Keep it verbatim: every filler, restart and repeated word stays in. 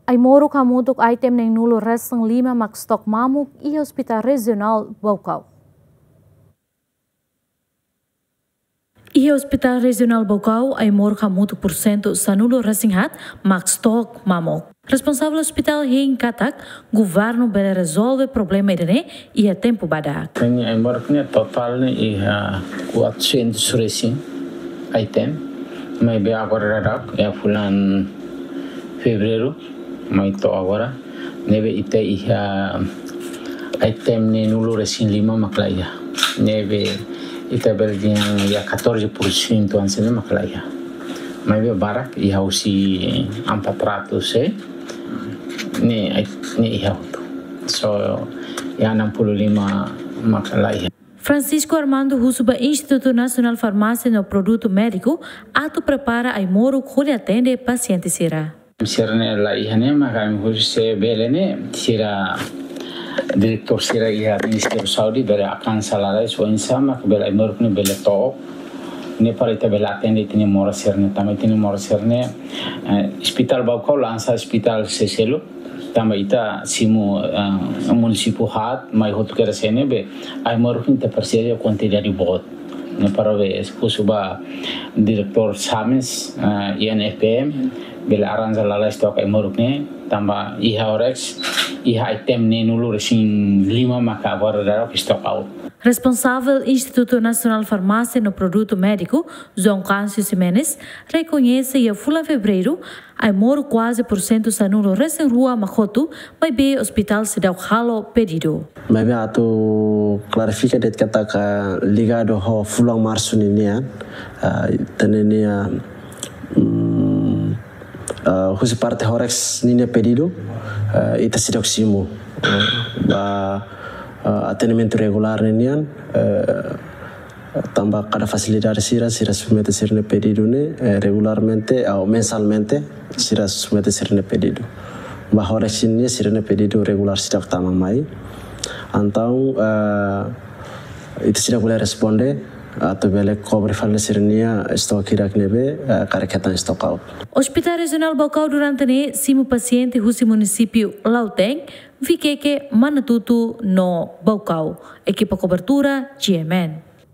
Ai-moruk hamutuk item neen-nulu resin lima mak stok mamuk iha Hospital Rejionál Baucau. Iha Hospital Rejionál Baucau, ai-moruk hamutuk pursentu sanulu resin haat mak stok mamuk. Responsavel hospital hein katak, governu bele rezolve problema ida-ne'e iha tempu badak. Ne'e ai-moruk ne'e totál ne'e iha quatrocentos resin item. Maibé agora daudaun iha fulan Fevereiru mai to'o agora ne'ebé ita iha item neen-nulu resin lima mak la iha. Ne'ebé ita bele dehan iha catorze por cento hanesan ne'e mak la iha. Maibé barak iha husi empat ratus, eh. Ne'e, ne'e iha hotu. So, iha enam puluh lima mak la iha. Francisco Armando husu ba Institutu Nasionál Farmásia no Produtu Médiku atu prepara ai-moruk hodi atende pasiente sira. Sira-ne'e la iha ne'e, maka ami husu se bele ne'e, sira diretór sira iha Ministériu Saúde bele alkansa lalais oinsá mak bele ai-moruk ne'e bele to'o. Ne'e para ita bele atende ita-nia moras sira-ne'e, tanba ita-nia moras sira-ne'e, eh, Hospital Baucau la hanesan hospital seluk, tanba ita simu, eh, munisípiu haat, mai hotu kedas iha ne'ebé ai-moruk ita presiza kuantidade boot. Ne'e para be husu ba diretór SAMES, eh, I N F P M, bele arranja lalais stok ai-moruk ne'e, tanba iha Horex, iha item neen-nulu resin lima maka agora daudaun stock out. Responsavel Institutu Nasionál Farmásia no Produtu Médiku, João Câncio Ximenes, rekoñese iha fulan Fevereiru, ai-moruk kuaze pursentu sanulu resin rua mak hotu, maibé hospital seidauk halo pedidu. Maibé atu klarifika de'it katak ligadu ho fulan Marsu ninian, ah, ita-nia, mm, ah, husi parte Horex ninia pedidu, ah, ita seidauk simu, ah, ba, ah, atendimentu regulár ninian, eh, tanba kada fasilidade sira, sira submete sira-nia pedidu ne'e, eh, regularmente ou mensalmente, sira submete sira-nia pedidu. Ba Horex ninia sira-nia pedidu regulár seidauk tama mai. Entaun, eh, ita seidauk bele responde atu bele kobre fali sira-nia stok hirak ne'ebé, eh, karik hetan stock out. Hospital Rejionál Baucau durante ne'e simu pasiente husi munisípiu Lautém, Viqueque, Manatuto no Baucau. Ekipa kobertura, G M N.